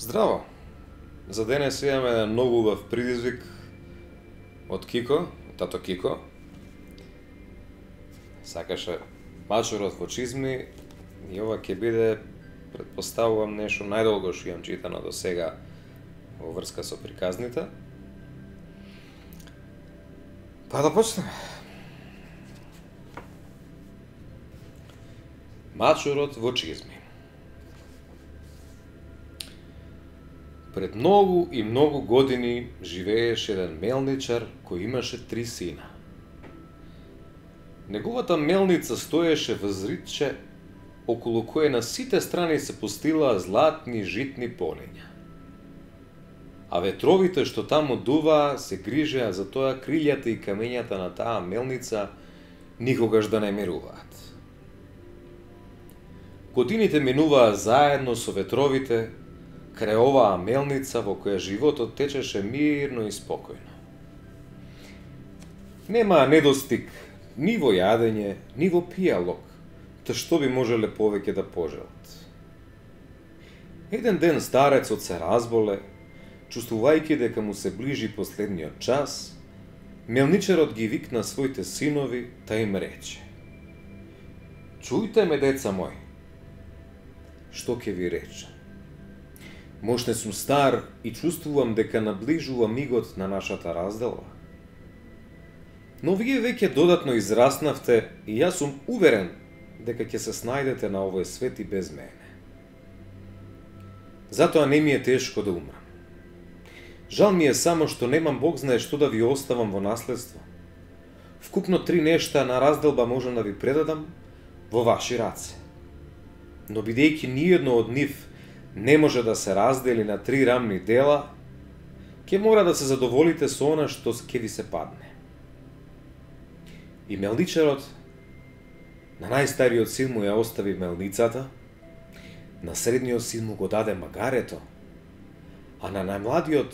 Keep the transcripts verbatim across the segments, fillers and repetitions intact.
Здраво! За денес имаме еден многу убав предизвик од Кико, тато Кико. Сакаше мачурот во чизми и ова ќе биде, предпоставувам, нешто најдолго што имам читано до сега во врска со приказните. Па да почнеме. Мачурот во чизми. Пред многу и многу години живееше еден мелничар кој имаше три сина. Неговата мелница стоеше во зридче околу кое на сите страни се постилаа златни житни полиња. А ветровите што таму дуваа се грижеа за тоа крилјата и камењата на таа мелница никогаш да не мируваат. Годините минуваа заедно со ветровите крај оваа мелница во која животот течеше мирно и спокојно. Немаа недостиг ни во јадење, ни во пијалок, та што би можеле повеќе да пожелат. Еден ден старецот се разболе, чувствувајќи дека му се ближи последниот час, мелничарот ги викна своите синови, та им рече: "Чујте ме, деца мои, што ќе ви речам. Можне сум стар и чувствувам дека наближува мигот на нашата разделба. Но вие веќе додатно израснавте и јас сум уверен дека ќе се снајдете на овој свет и без мене. Затоа не ми е тешко да умрам. Жал ми е само што немам Бог знае што да ви оставам во наследство. Вкупно три нешта на разделба можам да ви предадам во ваши раце. Но бидејќи ниедно од нив не може да се раздели на три рамни дела, ќе мора да се задоволите со она што ќе ви се падне." И мелничарот на најстариот син му ја остави мелницата, на средниот син му го даде магарето, а на најмладиот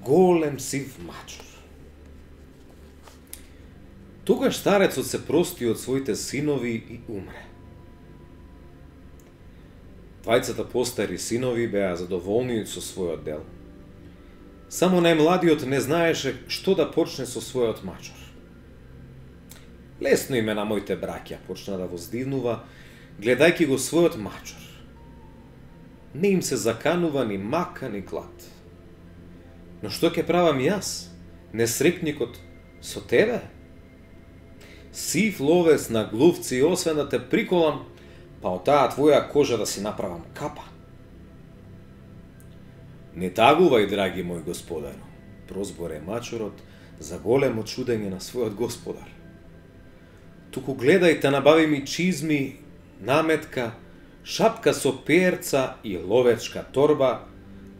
голем сив мачур. Тогаш старецот се прости од своите синови и умре. Двајцата постари синови беа задоволни со својот дел. Само најмладиот не знаеше што да почне со својот мачур. "Лесно име на моите браќа", почна да воздивнува, гледајќи го својот мачур. "Не им се заканува ни мака ни глад. Но што ќе правам јас, несрекникот, со тебе? Сив ловец на глувци, освен да те приколам, па од таа твоја кожа да си направам капа." "Не тагувај, драги мој господару", прозборе мачурот за големо чудење на својот господар. "Туку гледај да набави ми чизми, наметка, шапка со перца и ловечка торба,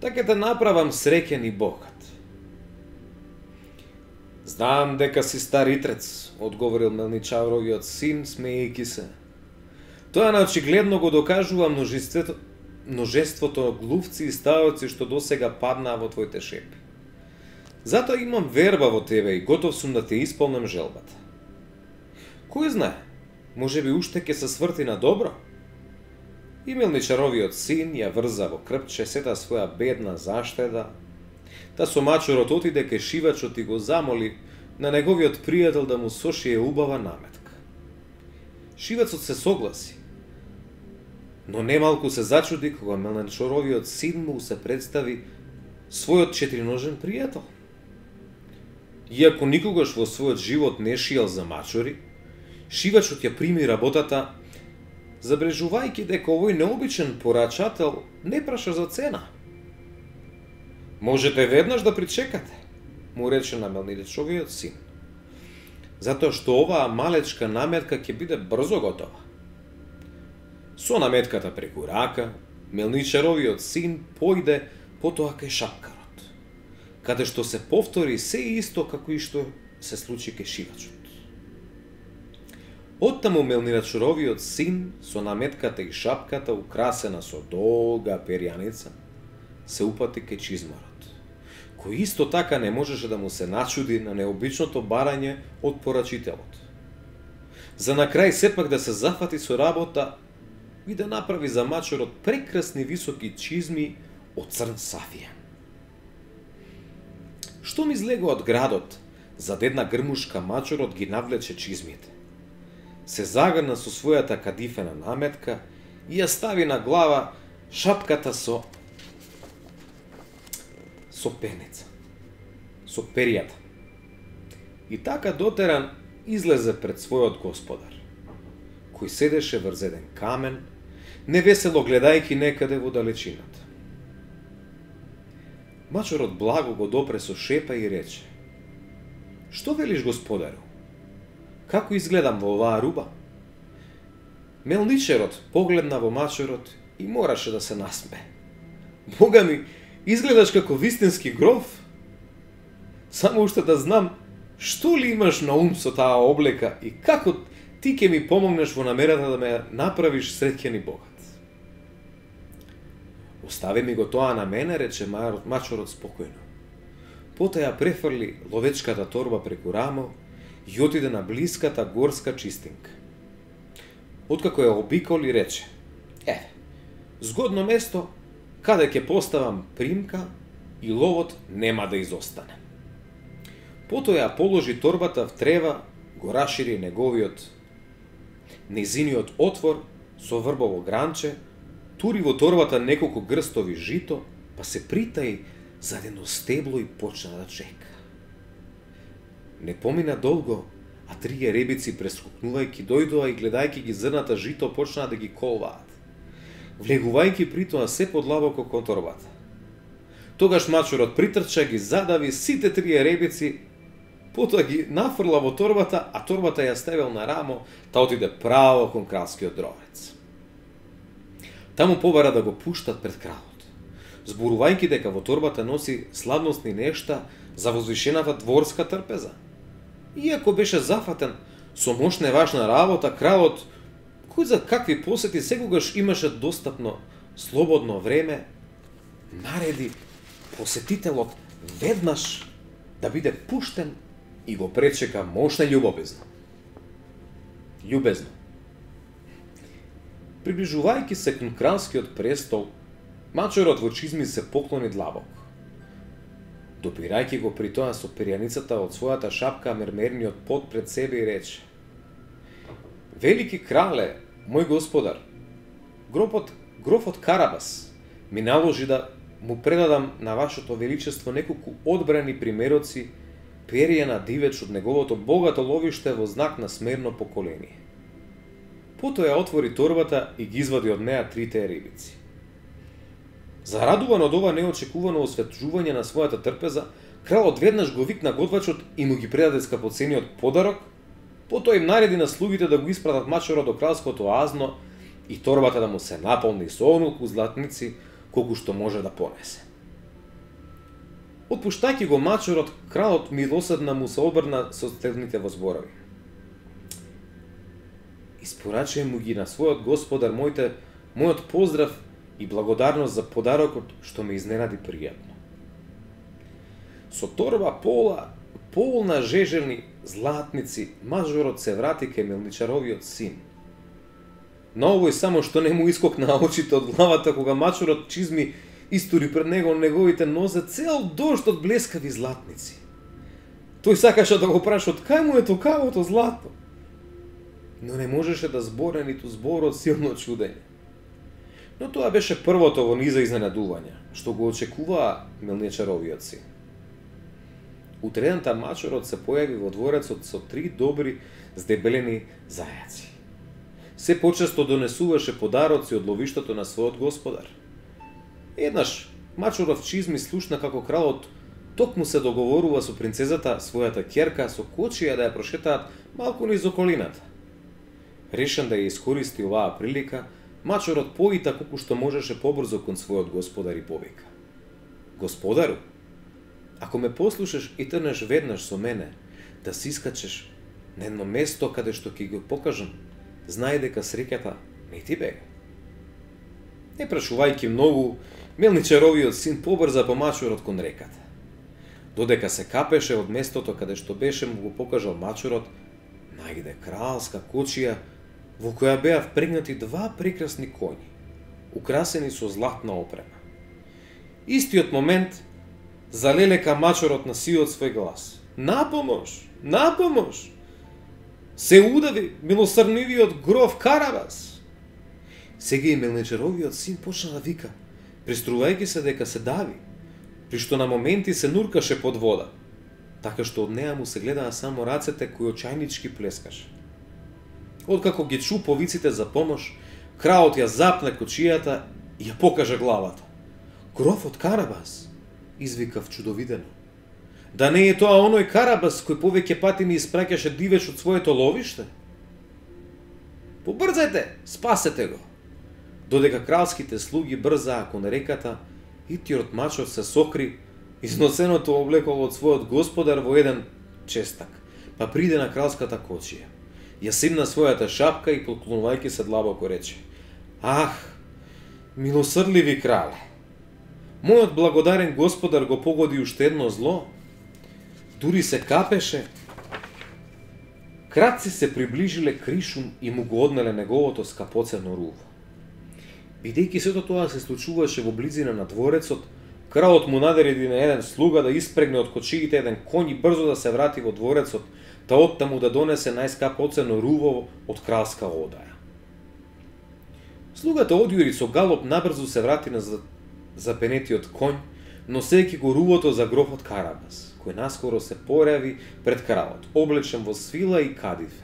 така да направам среќен и богат." "Знам дека си стар итрец", одговорил мелничаровиот син, смеејќи се. "Тоа наочигледно го докажува множеството, множеството глувци и ставоци што досега паднаа во твоите шепи. Затоа имам верба во тебе и готов сум да те исполнам желбата. Кој знае, може би уште ќе се сврти на добро?" И мелничаровиот син ја врза во крпче сета своја бедна заштеда, та со мачурот отиде кај шивачот и го замоли на неговиот пријател да му сошие убава наметка. Шивачот се согласи, но немалку се зачуди кога мелничаровиот син му се представи својот четириножен пријател. Иако никогаш во својот живот не шиел за мачури, шивачот ја прими работата, забрежувајќи дека овој необичен порачател не праша за цена. "Можете веднаш да причекате", му рече на мелничаровиот син, "затоа што оваа малечка наметка ќе биде брзо готова." Со наметката преку рака, мелничаровиот син појде потоа кај шапкарот, каде што се повтори се исто како и што се случи кај шивачот. Оттаму мелничаровиот син со наметката и шапката украсена со долга перјаница се упати кај чизмарот, кој исто така не можеше да му се начуди на необичното барање од порачителот. За на крај сепак да се зафати со работа и да направи за мачурот прекрасни високи чизми од црн сафија. Штом излегува од градот, зад една грмушка мачорот ги навлече чизмите. Се загрна со својата кадифена наметка и ја стави на глава шапката со со пенеца, со перијата. И така дотеран излезе пред својот господар, кој седеше врз еден камен, невесело гледајќи некаде во далечината. Мачорот благо го допре со шепа и рече: "Што велиш, господару? Како изгледам во оваа руба?" Мелничерот погледна во мачорот и мораше да се насме. "Бога ми, изгледаш како вистински гроф. Само уште да знам, што ли имаш на ум со таа облека и како ти ќе ми помогнеш во намерата да ме направиш среќен и богат?" "Остави ми го тоа на мене," рече мачорот спокојно. Потоа ја префрли ловечката торба преку рамо и отиде на блиската горска чистинка. Откако ја обиколи, рече: "Еве, згодно место каде ќе поставам примка и ловот нема да изостане." Потоа ја положи торбата в трева, го рашири неговиот незиниот отвор со врбово гранче, тури во торбата неколку грстови жито, па се притаи зад едно стебло и почна да чека. Не помина долго, а трие ребици прескокнувајќи дојдоа и гледајќи ги зрната жито почнаа да ги колваат, влегувајќи притоа се подлабоко кон торбата. Тогаш мачорот притрча, ги задави сите трие ребици, потоа ги нафрла во торбата, а торбата ја ставил на рамо, та отиде право кон кралскиот дровец. Таму побара да го пуштат пред кралот, зборувајќи дека во торбата носи сладностни нешта за возвишената дворска трпеза. Иако беше зафатен со мошна и важна работа, кралот, кој за какви посети секогаш имаше достапно слободно време, нареди посетителот веднаш да биде пуштен и го пречека мошна љубовизно. Љубезно. Приближувајќи се кон кралскиот престол, мачорот во чизми се поклони длабоко. Допирајќи го при тоа со перјаницата од својата шапка мермерниот пот пред себе и рече: "Велики крале, мој господар, грофот, грофот Карабас ми наложи да му предадам на вашето величество неколку одбрани примероци перија на дивеч од неговото богато ловиште во знак на смерно поколение." Потоа ја отвори торбата и ги извади од неа трите рибици. Зарадуван од ова неочекувано осветжување на својата трпеза, кралот веднаш го викна готвачот и му ги предаде скапоцениот подарок, потоа им нареди на слугите да го испратат мачорот до кралското азно и торбата да му се наполни со онолку златници колку што може да понесе. Отпуштајќи го мачорот, кралот милосрдно му се обрна со следните возборови: "Испорачај му ги на својот господар мојте, мојот поздрав и благодарност за подарокот што ме изненади пријатно." Со торба пола, полна жежени златници, мажорот се врати кај мелничаровиот син. На овој само што не му искокна очите од главата кога мачорот чизми истори пред него неговите нозе цел дожд од блескави златници. Тој сакаше да го праша од кај му е токавото злато, но не можеше да зборе ниту збор од силно чудење. Но тоа беше првото во низа изненадувања, што го очекуваа мелничаровиот син. Утредента мачорот се појави во дворецот со три добри здебелени зајаци. Се почесто донесуваше подароци од ловиштето на својот господар. Еднаш мачоров чизми слушна како кралот токму се договорува со принцезата, својата ќерка, со кочија да ја прошетаат малку низ околината. Решен да ја искористи оваа прилика, мачорот поита колку што можеше побрзо кон својот господар и повика: "Господару, ако ме послушаш и трнеш веднаш со мене да си искачеш на едно место каде што ќе го покажам, знај дека среќата не ти бега." Не прашувајќи многу, мелничаровиот син побрза по мачорот кон реката. Додека се капеше од местото каде што беше му го покажал мачорот, најде кралска кочија во која беа впрегнати два прекрасни коњи, украсени со златна опрема. Истиот момент залелека мачорот на сиот свој глас. Напомош, напомош! Се удави милосрднивиот гроф Карабас. Сега и мелничаровиот син почна да вика, приструвајќи се дека се дави, при што на моменти се нуркаше под вода, така што од неа му се гледаа само рацете кои очајнички плескаше. Откако ги чу повиците за помош, кралот ја запна кочијата и ја покажа главата. Грофот Карабас, извикав чудовидено. Да не е тоа оној Карабас кој повеќе пати ми испраќаше дивеч од своето ловиште? Побрзајте, спасете го! Додека кралските слуги брзаа кон реката, итиот мачор се сокри, износеното облекло од својот господар во еден честак, па приде на кралската кочија. Ја симна својата шапка и поклонувајќи се длабоко рече: Ах, милосрдливи крале! Мојот благодарен господар го погоди уште едно зло. Дури се капеше. Крадци се приближиле кришум и му го однеле неговото скапоцено руво. Бидејќи сето тоа се случуваше во близина на дворецот, кралот му нареди на еден слуга да испрегне од кочиите еден коњ и брзо да се врати во дворецот, та оттаму да донесе најскапоцено руво од кралска одаја. Слугата одјури со галоп набрзо се врати на запенетиот коњ, носејќи го рувото за грофот Карабас, кој наскоро се појави пред кралот, облечен во свила и кадифе.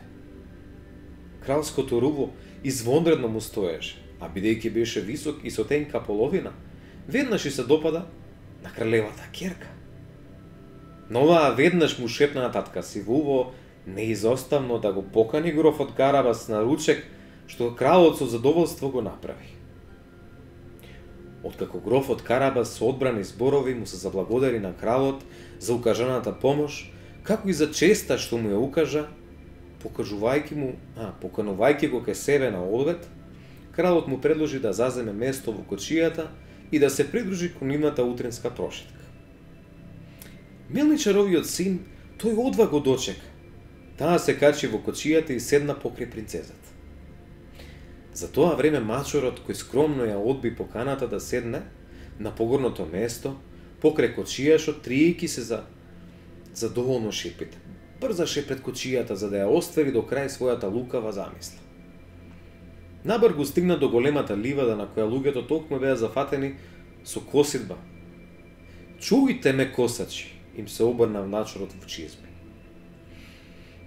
Кралското руво извонредно му стоеше, а бидејќи беше висок и со тенка половина, веднаш и се допада на кралевата ќерка. Но оваа веднаш му шепна на татка си во уво неизоставно да го покани грофот Карабас на ручек, што кралот со задоволство го направи. Откако грофот Карабас со одбрани зборови му се заблагодари на кралот за укажаната помош, како и за честа што му ја укажа, покажувајќи му, а, поканувајќи го кај себе на одвет, кралот му предложи да заземе место во кочијата и да се придружи кон нивната утринска прошетка. Мелничаровиот син, тој одва го дочека. Таа се качи во кочијата и седна покрај принцезата. За тоа време мачорот, кој скромно ја одби поканата да седне на погорното место, покрај кочијашот, триејќи се за задоволно шепите, брзаше пред кочијата за да ја оствари до крај својата лукава замисла. Набар го стигна до големата ливада на која луѓето токму беа зафатени со косидба. Чујте ме, косачи, им се обрна мачорот во чизми.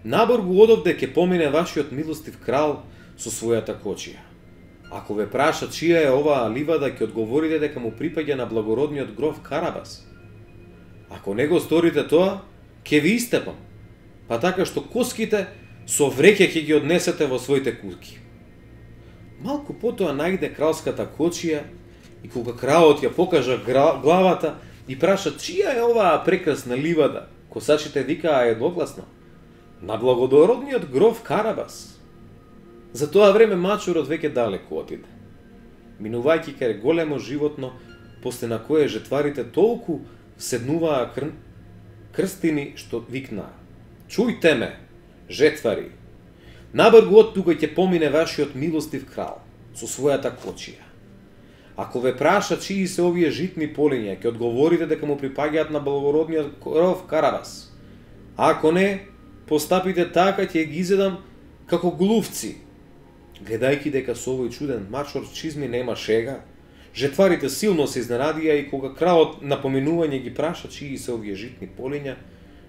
Набор го одовде ќе помине вашиот милостив крал со својата кочија. Ако ве праша чија е оваа ливада, ќе одговорите дека му припаѓа на благородниот гроф Карабас. Ако не го сторите тоа, ќе ви истепам, па така што коските со вреќе ќе ги однесете во своите кутки. Малку потоа најде кралската кочија и кога кралот ја покажа главата и праша чија е оваа прекрасна ливада, косачите викаа едногласно: на благородниот гроф Карабас. За тоа време мачорот веќе далеку отиде, минувајќи кај големо животно, после на кое жетварите толку седнуваа кр... крстини што викнаа: Чујте ме, жетвари! Набар го од тука ќе помине вашиот милостив крал со својата кочија. Ако ве праша чии се овие житни полиња, ќе одговорите дека му припаѓаат на благородниот гроф Карабас. Ако не, постапите така, ќе ги изедам како глувци. Гледајќи дека со овој чуден мачор чизми нема шега, жетварите силно се изненадија и кога кралот на поминување ги праша чии се овие житни полиња,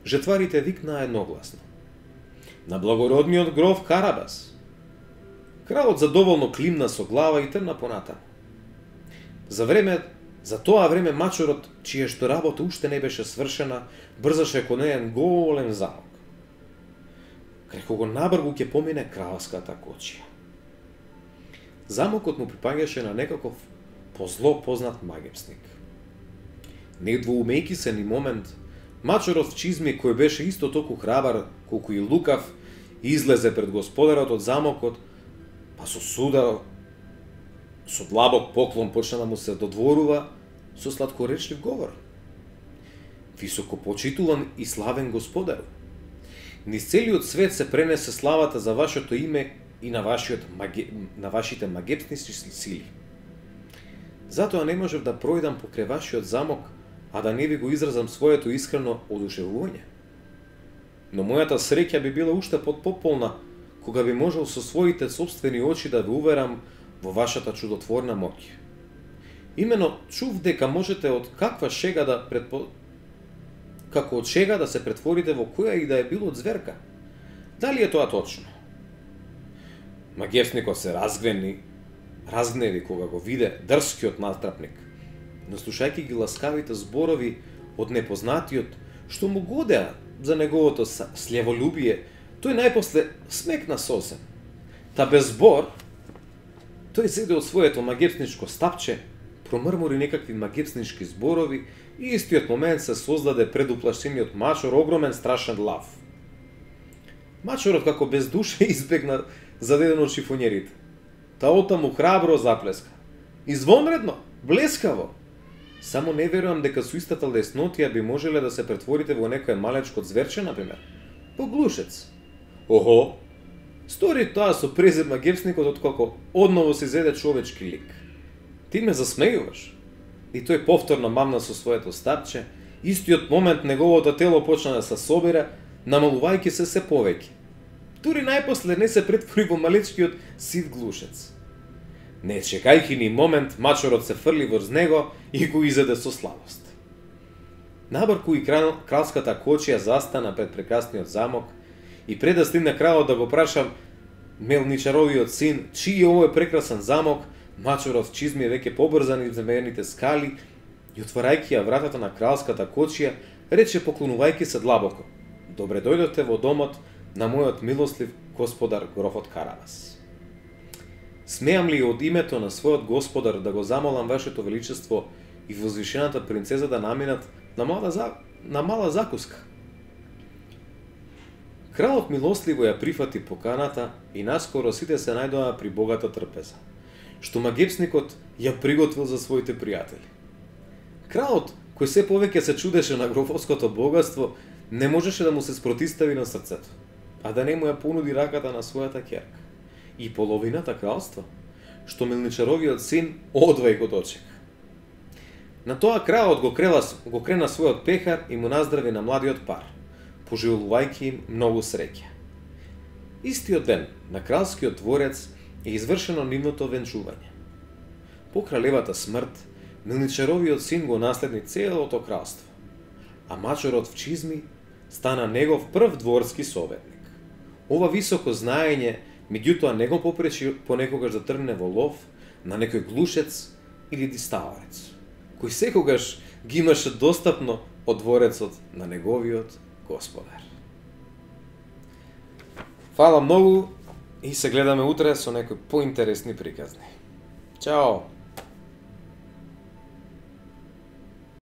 жетварите викнаа едногласно: на благородниот гроф Карабас. Кралот задоволно климна со глава и тргна понатаму. За време, за тоа време мачорот, чија што работа уште не беше свршена, брзаше кон еден голем замок. Крај кого набргу ќе помине кралската кочија. Замокот му припаѓаше на некаков позло познат магепсник. Недвоумејќи се ни момент, мачорот в чизми, кој беше исто толку храбар колку и лукав, излезе пред господарот од замокот, па со суда, со длабок поклон почна да му се додворува со сладкоречлив говор. Високо почитуван и славен господару, низ целиот свет се пренесе славата за вашето име и на вашиот маге... на вашите магепснички сили. Затоа не можев да пројдам покрај вашиот замок, а да не ви го изразам своето искрено одушевување. Но мојата среќа би била уште потполна кога би можел со своите собствени очи да ви уверам во вашата чудотворна моќ. Имено чув дека можете од каква шега да предпо... како од шега да се претворите во која и да е било зверка. Дали е тоа точно? Магевсникот се разгневи, разгневи кога го виде дрскиот натрапник, но слушајќи ги ласкавите зборови од непознатиот, што му годеа за неговото слеволюбие, тој најпосле смекна сосем. Та без збор, тој зеде од своето магепсничко стапче, промрмори некакви магепснички зборови и истиот момент се создаде пред уплашениот мачор огромен страшен лав. Мачорот како без душа избегна задеден од шифонерите. Таота му храбро заплеска. Извонредно, блескаво. Само не верувам дека со истата леснотија би можеле да се претворите во некој малечко зверче, например. Во глушец. Охо, стори тоа со презир магепсникот откако одново се зеде човечки лик. Ти ме засмејуваш. И тој повторно мамна со своето стапче, истиот момент неговото тело почна да се собира, намалувајќи се се повеќе. Дури најпосле не се претвори во малечкиот сив глушец. Не чекајќи ни момент, мачорот се фрли врз него и го изеде со слабост. Набрку и крал, кралската кочија застана пред прекрасниот замок и пред да стигне кралот да го праша мелничаровиот син чиј е овој прекрасен замок, мачорот чизми веќе побрзан из земените скали и отварајќи ја вратата на кралската кочија, рече поклонувајќи се длабоко: добре дојдовте во домот на мојот милослив господар грофот Карабас. Смеам ли од името на својот господар да го замолам вашето величество и возвишената принцеза да наминат на мала, за... на мала закуска? Кралот милостливо ја прифати поканата и наскоро сите се најдоа при богата трпеза, што магепсникот ја приготвил за своите пријатели. Кралот, кој се повеќе се чудеше на грофовското богатство, не можеше да му се спротистави на срцето, а да не му ја понуди раката на својата ќерка. И половината кралство, што мелничаровиот син одвај го дочека. На тоа кралот го, крела, го крена својот пехар и му наздрави на младиот пар, пожелувајќи им многу среќа. Истиот ден на кралскиот дворец е извршено нивното венчување. По кралевата смрт, мелничаровиот син го наследни целото кралство, а мачорот в чизми стана негов прв дворски советник. Ова високо знаење меѓутоа не го попречи понекогаш да тргне во лов на некој глушец или диставарец, кој секогаш ги имаше достапно од дворецот на неговиот господар. Фала многу и се гледаме утре со некои поинтересни приказни. Чао!